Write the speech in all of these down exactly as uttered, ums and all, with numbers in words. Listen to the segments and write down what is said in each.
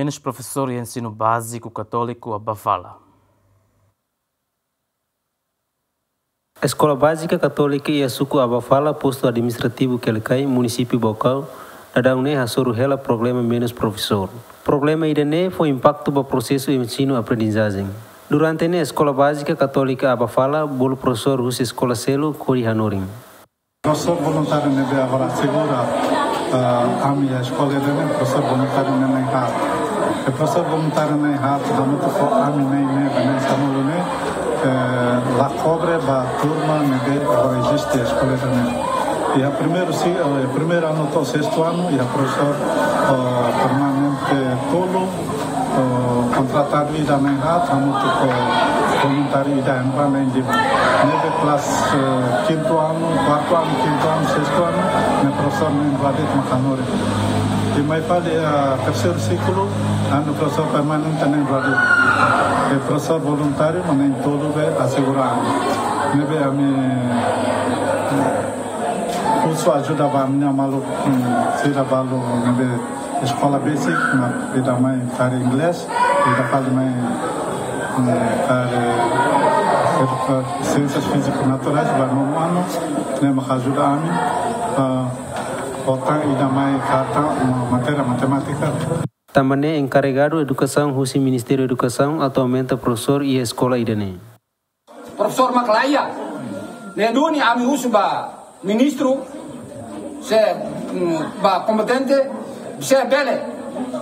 Menus profesór iha ensinu báziku katóliku Abafala. Eskola Bázika Katólika iha suku Abafala, postu administrativu Quelicai, munisípiu Baucau, daudaun ne'e hasoru hela problema menus profesór. Problema ida-ne'e fó impaktu ba prosesu ensinu-aprendizajen. Durante ne'e, Eskola Bázika Katólika Abafala bolu profesór husi eskola seluk hodi hanorin. Profesór voluntáriu ne'ebé agora asegura, ah, ami iha eskola ida-ne'e, profesór voluntáriu ne'e na'in haat. E profesór voluntáriu na'in haat, hamutuk ho ami na'in neen, na'in sanulu ne'e, eh, la kobre ba turma ne'ebé agora eziste eskola ida-ne'e. Iha primeiru si-, eh, primeiru anu to'o sestu anu, iha profesór, eh, permanente tolu, eh, kontratadu ida na'in haat, hamutuk ho voluntáriu ida hembra na'in lima. Ne'ebé kelas, eh, kintu anu, kuartu anu, kintu anu, sestu anu, ne'e profesór na'in rua de'it mak hanorin. I mai fali, eh, terseiru siklu, ami-nia profesór permanente na'in rua de'it. I profesór voluntáriu mak na'in tolu be asegura ami. Ne'ebé ami, eh, husu ajuda ba ami-nia maluk, hmm, sira balu ne'ebé eskola basic, mak ida mai karik inglés, ida fali mai, mm, karik, eh, siénsias fíziku naturais, ba nonu anu, ne'e mak ajuda ami, eh, ho tan ida mai katak, mm, matéria matemátika. Tanba ne'e enkarregadu edukasaun husi Ministériu Edukasaun atu aumenta profesór iha eskola ida-ne'e. Profesór mak la iha. Ne'e duni ami husu ba ministru se, mm, ba kompetente se bele,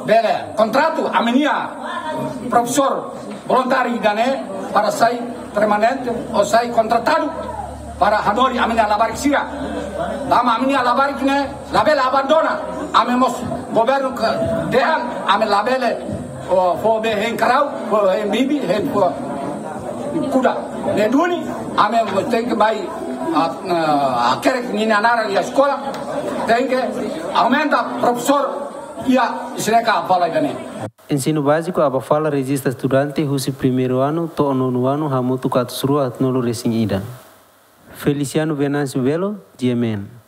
bele kontratu ami-nia profesór voluntáriu ida-ne'e para sai permanente ou sai kontratadu para hanorin ami-nia labarik sira. Tanba ami-nia labarik ne'e labele abandona. Ami mós governu ke dehan ami labele, oh, fó be hein karau, fó hein bibi, hein fó kuda. Ne'e duni, ami tenke mai, ah, ah, hakerek ninia naran iha eskola, tenke aumenta profesór iha Isreka Abafala ida-ne'e. Ensinu báziku Abafala rejista estudante husi primeiru anu to'o nonu anu hamutuk atus rua haatnulu resin ida. Feliciano Venâncio Belo, G M N.